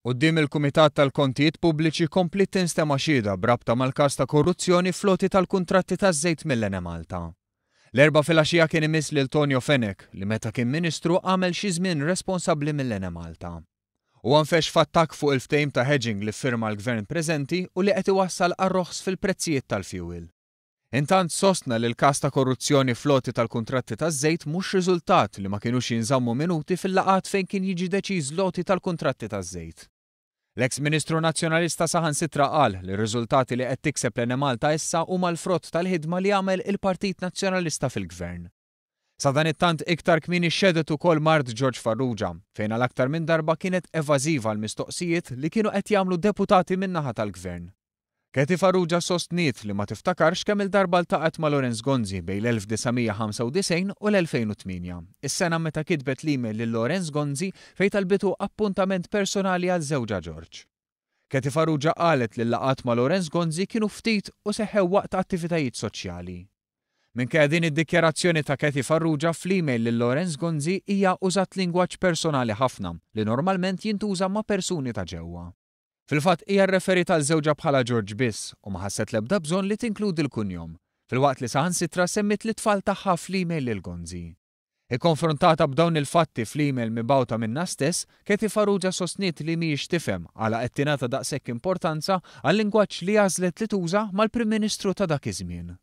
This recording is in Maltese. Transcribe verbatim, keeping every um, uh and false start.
Quddiem il-Kumitat tal-Kontijiet Pubbliċi kompliet tinstema' xhieda b'rabta mal-każ ta' korruzzjoni fl-għoti tal-kuntratti taż-żejt mill-Enemalta. L-Erbgħa filgħaxija kien imiss lil Tonio Fenech li meta kien Ministru għamel xi żmien responsabbli mill-Enemalta. Huwa nfexx f'attakk fuq il-ftehim ta' hedging li ffirma l-Gvern preżenti u li qed iwassal għar-roħs fil-prezzijiet tal-fjuwil. Intant sostna li l-każ ta' korruzzjoni fl-għoti tal-kuntratti taż-żejt mhux riżultat li ma kinux jinżammu minuti fil-laqgħat fejn kien jiġi deċiż l-għoti tal-kuntratti taż-żejt. L-eks Ministru Nazzjonalista saħansitra qal li r-riżultati li qed tikseb l-Enemalta issa huma l-frott tal-ħidma li għamel il-Partit Nazzjonalista fil-Gvern. Sadanittant iktar kmieni xehdet ukoll mart George Farrugia, fejn għal aktar minn darba kienet evażiva l-mistoqsijiet li kienu qed jagħmlu deputati min-naħa tal-Gvern. Kathy Farrugia sostniet li ma tiftakarx kemm il-darba ltaqgħet ma' Lawrence Gonzi bejn l-elf disa' mija ħamsa u disgħin u l-elfejn u tmienja, is-sena meta kitbet l-email lil Lawrence Gonzi fejn talbitu appuntament personali għal żewġha George. Kathy Farrugia qalet li l-laqgħat ma' Lawrence Gonzi kienu ftit u seħħew waqt attivitajiet soċjali. Minkejja din id-dikjarazzjoni ta' Kathy Farrugia fl-email lil Lawrence Gonzi hija użat lingwaġġ personali ħafna li normalment jintuża ma' persuni ta' ġewwa. Fil-fatt hija rreferit għal żewġha bħala George biss u ma ħasset l-ebda bżonn li tinkludi l-kunjom, filwaqt li saħansitra semmit l-itfal tagħha fl-email lil Gonzi. Ikkonfrontata b'dawn il-fatti fl-email mibgħuta minnha stess, Kathy Farrugia sostniet li mhijiex tifhem għala qed tingħata daqshekk importanza għal-lingwaġġ li għażlet li tuża mal-Prim Ministru ta' dak iż-żmien.